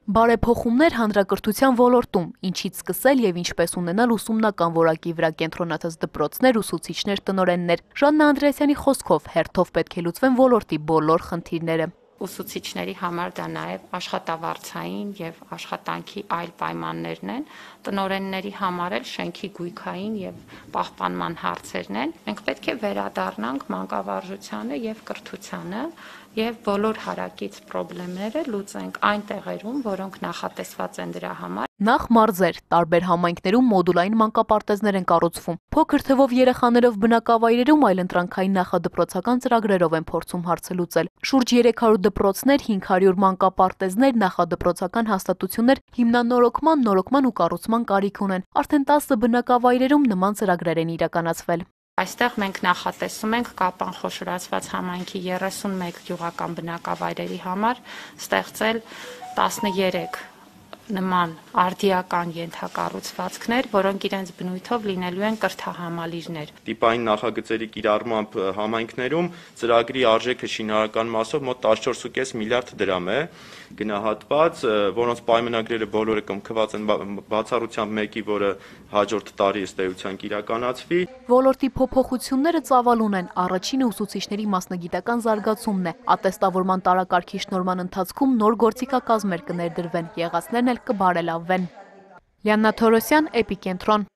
Բարեփոխումներ հանրակրթության ոլորտում, ինչից սկսել եւ ինչպես ունենալ ուսումնական որակի վրա կենտրոնացած դպրոցներ, ուսուցիչներ, տնօրեններ։ Ժաննա Անդրեասյանի խոսքով հերթով պետք է լուծվեն ոլորտի բոլոր խնդիրները։ Ուսուցիչների համար դա նաև աշխատավարձային եւ աշխատանքի այլ պայմաններն են, տնօրենների համար էլ շենքի գույքային եւ պահպանման հարցերն են։ Մենք պետք է վերադառնանք մանկավարժությանը եւ կրթությանը եւ բոլոր հարակից խնդիրները լուծենք այն տեղերում, որոնք նախատեսված են դրա համար։ Նախ մարզեր, տարբեր համայնքներում մոդուլային մանկապարտեզներ են կառուցվում։ Փոքր թվով երեխաներով բնակավայրերում այլընտրանքային նախադպրոցական ծրագրերով են փորձում հարցը լուծել։ Շուրջ 300 դպրոցներ, 500 մանկապարտեզներ, նախադպրոցական հաստատություններ հիմնանորոգման, նորոգման ու կառուցման կարիք ունեն։ Արդեն 10 բնակավայրերում նման ծրագրեր են իրականացվել։ Այստեղ մենք նախատեսում ենք Կապան խոշորացված համայնքի 31 գյուղական բնակավայրերի համար ստեղծել 13 նման արդիական ենթակառուցվածքներ, որոնք իրենց բնույթով լինելու են կրթահամալիրներ։ Տիպային նախագծերի կիրառմամբ համայնքներում ծրագրի արժեքը շինարարական մասով մոտ 14.5 միլիարդ դրամ է գնահատված, որոնց պայմանագրերը բոլորը կնքված են բացառությամբ մեկի, որը հաջորդ տարի ըստ էության կիրականացվի։ Ոլորտի փոփոխությունները ծավալուն են, առաջինը ուսուցիչների մասնագիտական զարգացումն է, ատեստավորման տարակարգի շնորհման ընթացքում նոր գործիքակազմեր կներդրվեն, եղածներն էլ կբարելավվեն։ Լիաննա Թորոսյան, Էպիկենտրոն։